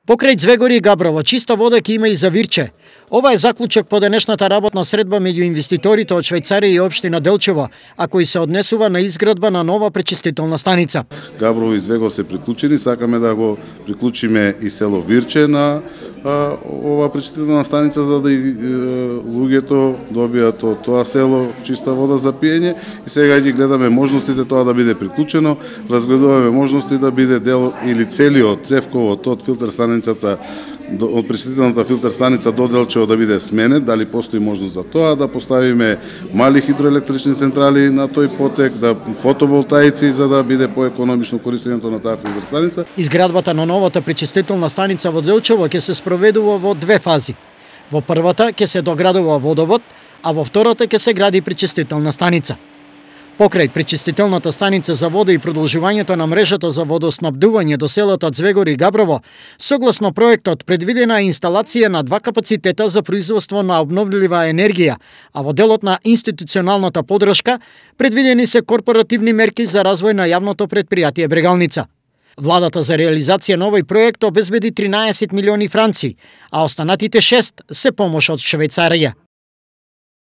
Покрај Звегори и Габрово, чиста вода ќе има и за Вирче. Ова е заклучок по денешната работна средба меѓу инвеститорите од Швајцарија и општина Делчево, а кој се однесува на изградба на нова пречистителна станица. Габрово и Звегор се приклучени, сакаме да го приклучиме и село Вирче на ова пречистителна станица, за да и луѓето добијат од тоа село чиста вода за пиење, и сега ги гледаме можностите тоа да биде приклучено, разгледуваме можности да биде дел или целиот цевковот од филтер станицата, од пречистителната филтер станица до Делчево да биде сменет, дали постои можност за тоа, да поставиме мали хидроелектрични централи на тој потек, да фотоволтаици за да биде поекономично користењето на таа филтер станица. Изградбата на новата пречистителна станица во Делчево ќе се спроведува во две фази. Во првата ќе се доградува водовод, а во втората ќе се гради пречистителна станица. Покрај пречистителната станица за вода и продолжувањето на мрежата за водоснабдување до селата Звегори и Габрово, согласно проектот предвидена е инсталација на 2 капацитета за производство на обновлива енергија, а во делот на институционалната подршка предвидени се корпоративни мерки за развој на јавното претпријатие Брегалница. Владата за реализација на овој проект обезбеди 13 милиони франци, а останатите 6 се помош од Швајцарија.